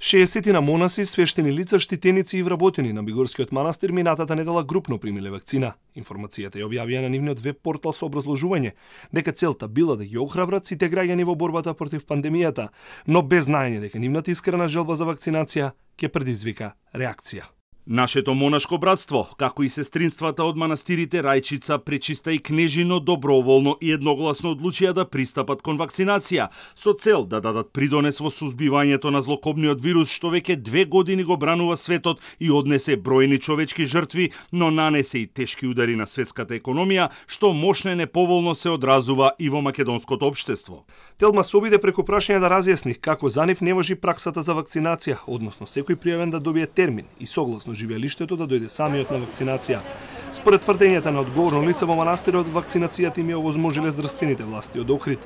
60 на монаси, свештени лица, штитеници и вработени на Бигорскиот манастир минатата недела групно примиле вакцина. Информацијата ја објавија на нивниот веб портал со образложување дека целта била да ги охрабрат сите граѓани во борбата против пандемијата, но без знаење дека нивната искрена желба за вакцинација ќе предизвика реакција. Нашето монашко братство, како и сестринствата од манастирите Рајчица, Пречиста и Кнежино, доброволно и едногласно одлучија да пристапат кон вакцинација, со цел да дадат придонес во сузбивањето на злокобниот вирус, што веќе 2 години го бранува светот и однесе бројни човечки жртви, но нанесе и тешки удари на светската економија, што мощно неповолно се одразува и во македонското општество. Телма се обиде преку прашање да разјасни како за нив не важи праксата за вакцинација, односно секој пријавен да добие термин и согласно живеалиштето да дојде самиот на вакцинација. Според тврдењата на одговорно лице во манастирот, вакцинацијата им ја овозможиле здравствените власти од Охрид.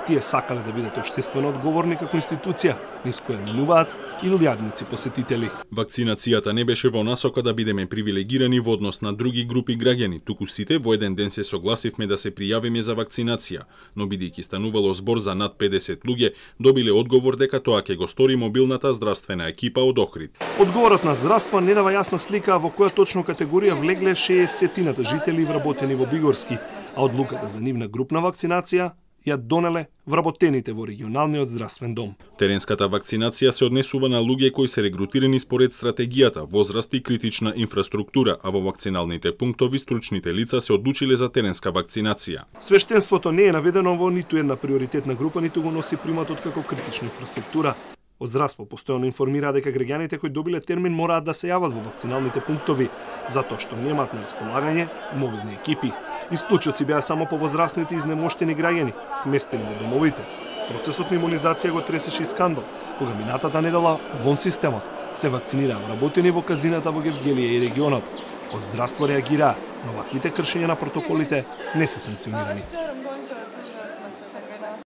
Тие сакале да бидат општествено одговорни како институција, низ која минуваат илјадници посетители. Вакцинацијата не беше во насока да бидеме привилегирани во однос на други групи граѓани, туку сите во еден ден се согласивме да се пријавиме за вакцинација, но бидејќи станувало збор за над 50 луѓе, добиле одговор дека тоа ќе го стори мобилната здравствена екипа од Охрид. Одговорот на здравство не дава јасна слика во која точно категорија влегле 60-тината жители вработени во Бигорски, а одлуката за нивна групна вакцинација ја донеле вработените во регионалниот здравствен дом. Теренската вакцинација се однесува на луѓе кои се регрутирани според стратегијата, возраст и критична инфраструктура, а во вакциналните пунктови стручните лица се одлучиле за теренска вакцинација. Свештенството не е наведено во ниту една приоритетна група, ниту го носи приматот како критична инфраструктура. Од здравство постојано информира дека граѓаните кои добиле термин мораат да се јават во вакциналните пунктови, затоа што немаат на располагање мобилни екипи. Исклучоци беа само по возрастните изнемоштени граѓани, сместени во домовите. Процесот на имунизација го тресеше и скандал, кога минатата недела вон системот се вакцинираа вработени во казината во Гевгелија и регионот. Од здравство реагираа, но ваквите кршења на протоколите не се санкционирани.